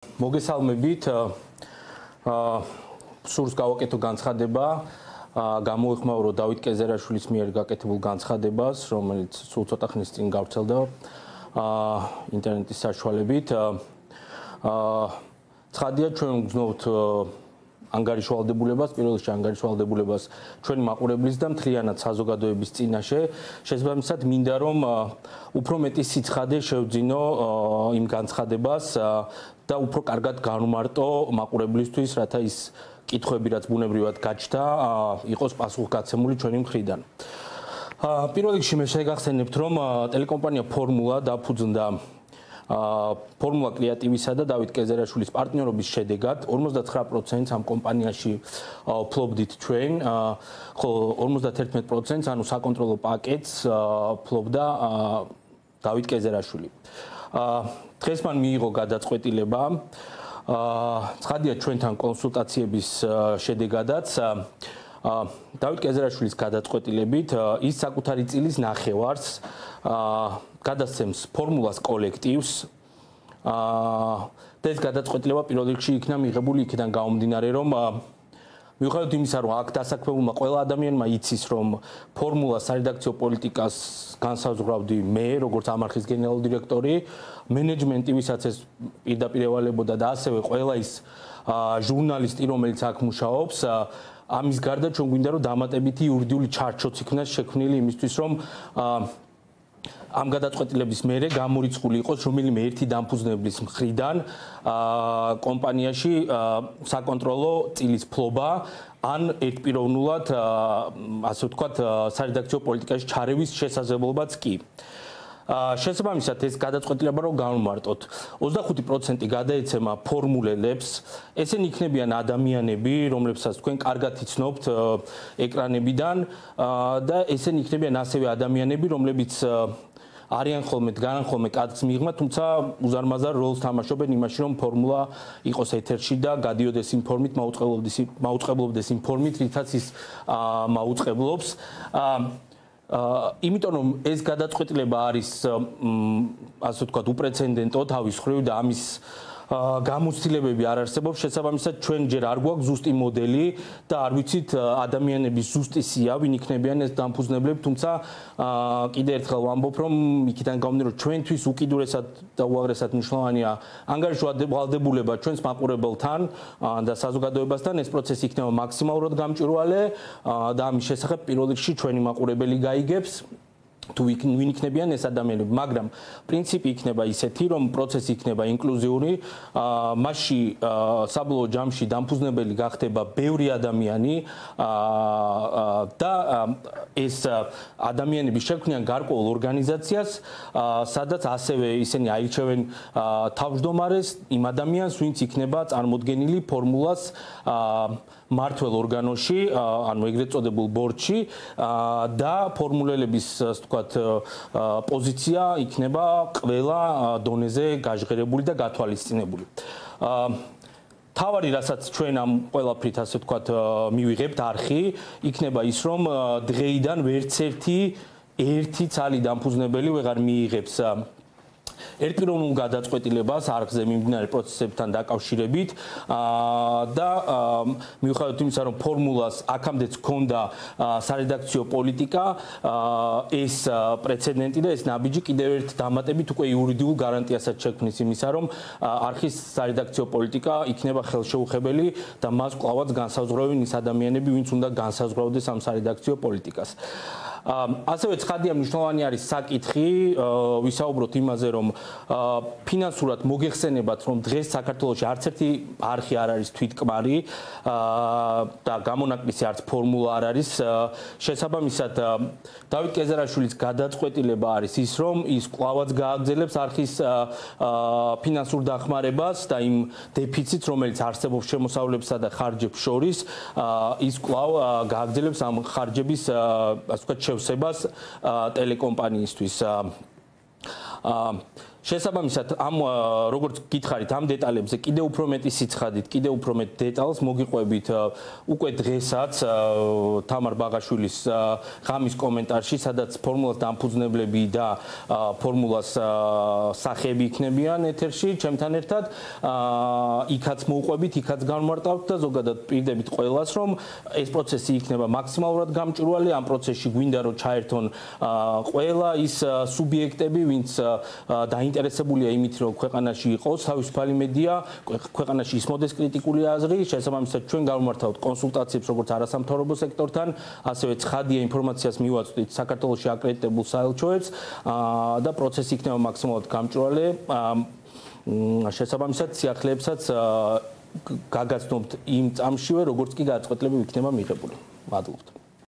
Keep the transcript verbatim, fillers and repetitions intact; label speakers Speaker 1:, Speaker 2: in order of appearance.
Speaker 1: მოგესალმებით. სურს გავაკეთო განცხადება, გამოეხმაურო დავით კეზერაშვილის მიერ გაკეთებულ განცხადებას, რომელიც სულ ცოტა ხნის წინ გავრცელდა ინტერნეტის საშუალებით. ცხადია, ჩვენ ვგრძნობთ ანგარიშვალდებულებას, პირველ რიგში ანგარიშვალდებულებას ჩვენი მაყურებლის და მთლიანად საზოგადოების წინაშე. შესაბამისად, მინდა რომ უფრო მეტი სიცხადე შევძინო იმ განცხადებას და უფრო კარგად განვმარტო მაყურებლისთვის, რათა ის კითხვები, რაც ბუნებრივად გაჩნდა, იყოს პასუხგაცემული ჩვენი მხრიდან. პირველ რიგში მე შეგახსენებთ, რომ ტელეკომპანია ფორმულა დაფუძნდა ფორმულა კრეატივისა და დავით კეზერაშვილის პარტნიორობის შედეგად ორმოცდათხრა პროცენტს ამ კომპანიაში ფლობდით ჩვენ, ხოლო ორმოცდაათი პროცენტს, ანუ საკონტროლო პაკეტს ფლობდა დავით კეზერაშვილი. დღეს მან მიიღო გადაწყვეტილება, ცხადია ჩვენთან კონსულტაციების შედეგადაც დავით კეზერაშვილის გადაწყვეტილებით ის საკუთარი წილის ნახევარს გადასცემს ფორმულას კოლექტივს და ეს გადაწყვეტილება პირველ რიგში იქნა მიღებული იქიდან გამომდინარე, რომ მიუხედავად იმისა, რომ აქ დასაქმებულმა ყველა ადამიანმა იცის, რომ ფორმულას სარედაქციო პოლიტიკას განსაზღვრავდი მე, როგორც ამ არხის გენერალური დირექტორი, მენეჯმენტი, ვისაც ეს პირდაპირ ევალებოდა და ასევე ყველა ის ჟურნალისტი, რომელიც აქ მუშაობს, ამის გარდა ჩვენ გვინდა რომ დამატებითი იურიდიული ჩარჩოც იქნას შექმნილი იმისთვის, რომ ამ გადაწყვეტილების მერე გამორიცხული იყოს რომელიმე ერთი დამფუძნებლის მხრიდან კომპანიაში საკონტროლო წილის ფლობა ან ერთპიროვნულად ასე ვთქვათ სარედაქციო პოლიტიკაში ჩარევის შესაძლებლობაც კი. შესაბამისად ეს გადაწყვეტილება რომ განვმარტოთ, ოცდახუთი პროცენტი გადაეცემა ფორმულელებს, ესენი იქნებიან ადამიანები, რომლებსაც თქვენ კარგად იცნობთ ეკრანებიდან და ესენი იქნებიან ასევე ადამიანები, რომლებიც არიან ხოლმე დგანან ხოლმე კადრს მიღმა, თუმცა უზარმაზარ როლს თამაშობენ იმაში, რომ ფორმულა იყოს ეთერში და გადიოდეს იმ ფორმით, მაუწყებლობდეს იმ ფორმით, რითაც ის მაუწყებლობს. იმიტომ რომ ეს გადაწყვეტილება არის ასე ვთქვათ უპრეცედენტო თავის მხრივ და ამის გამოცდილებები არ არსებობს, შესაბამისად ჩვენ ჯერ არ გვაქვს ზუსტი მოდელი და არ ვიცით ადამიანების ზუსტი სია, ვინ იქნებიან ეს დამფუძნებლები, თუმცა კიდე ერთხელ ვამბობ, რომ იქიდან გამომდინარე, რომ ჩვენთვის უკიდურესად და უაღრესად მნიშვნელოვანია ანგარიშვალდებულება ჩვენს მაყურებელთან და საზოგადოებასთან, ეს პროცესი იქნება მაქსიმალურად გამჭვირვალე და ამის შესახებ პირველ რიგში ჩვენი მაყურებელი გაიგებს თუ ვინ იქნებიან ეს ადამიანები, მაგრამ პრინციპი იქნება ისეთი, რომ პროცესი იქნება ინკლუზიური, მასში საბოლოო ჯამში დამფუძნებელი გახდება ბევრი ადამიანი და ეს ადამიანები შექმნიან გარკვეულ ორგანიზაციას, სადაც ასევე ისინი აირჩევენ თავმჯდომარეს იმ ადამიანს, ვინც იქნება წარმოდგენილი ფორმულას მართველ ორგანოში, ანუ ეგრეთ წოდებულ ბორდში და ფორმულელების ასე ვთქვათ პოზიცია იქნება ყველა დონეზე გაჟღერებული და გათვალისწინებული. თავარი, რასაც ჩვენ ამ ყველაფრით ასე ვთქვათ მივიღებთ არხი, იქნება ის, რომ დღეიდან ვერც ერთი ერთი ცალი დამფუძნებელი ვეღარ მიიღებს ერთპიროვნულ გადაწყვეტილებას არხზე მიმდინარე პროცესებთან დაკავშირებით და მიუხედავად იმისა, რომ ფორმულას აქამდეც ჰქონდა სარედაქციო პოლიტიკა, ეს პრეცედენტი და ეს ნაბიჯი კიდევ ერთ დამატებით უკვე იურიდიულ გარანტიასაც შექმნის იმისა, რომ არხის სარედაქციო პოლიტიკა იქნება ხელშეუხებელი და მას კვლავაც განსაზღვრავენ ის ადამიანები, ვინც უნდა განსაზღვრავდეს ამ სარედაქციო პოლიტიკას. ასევე ცხადია მნიშვნელოვანი არის საკითხი, ვისაუბროთ იმაზე, რომ ფინანსურად მოგეხსენებათ, რომ დღეს საქართველოში არც ერთი არხი არ არის თვითკმარი და გამონაკლისი არც ფორმულა არ არის. შესაბამისად, დავით კეზერაშვილის გადაწყვეტილება არის ის, რომ ის კვლავაც გააგრძელებს არხის ფინანსურ დახმარებას და იმ დეფიციტს, რომელიც არსებობს შემოსავლებსა და ხარჯებს შორის, ის კვლავ გააგრძელებს ამ ხარჯების ასე ვთქვათ შევსებას ტელეკომპანიისთვის. შესაბამისად ამ როგორც გითხარით ამ დეტალებზე კიდევ უფრო მეტი სიცხადით, კიდევ უფრო მეტ დეტალს მოგიყვებით უკვე დღესაც თამარ ბაღაშვილის ღამის კომენტარში, სადაც ფორმულას დამფუძნებლები და ფორმულას სახეები იქნებიან ეთერში ჩემთან ერთად. იქაც მოვყვებით, იქაც განმარტავთ და ზოგადად პირდებით ყველას, რომ ეს პროცესი იქნება მაქსიმალურად გამჭვირვალე. ამ პროცესში გვინდა რომ ჩაერთონ ყველა ის სუბიექტები, ვინც დაინტერესებულია იმით, რომ ქვეყანაში იყოს თავისუფალი მედია, ქვეყანაში ისმოდეს კრიტიკული აზრი, შესაბამისად ჩვენ გავმართავთ კონსულტაციებს როგორც არასამთავრობო სექტორთან, ასევე ცხადია ინფორმაციას მივაწვდით საქართველოში აკრედიტებულ საელჩოებს და პროცესი იქნება მაქსიმალურად გამჭვირვალე. შესაბამისად სიახლეებსაც გაგაცნობთ იმ წამშივე, როგორც კი გადაწყვეტილება იქნება მიღებული. მადლობთ.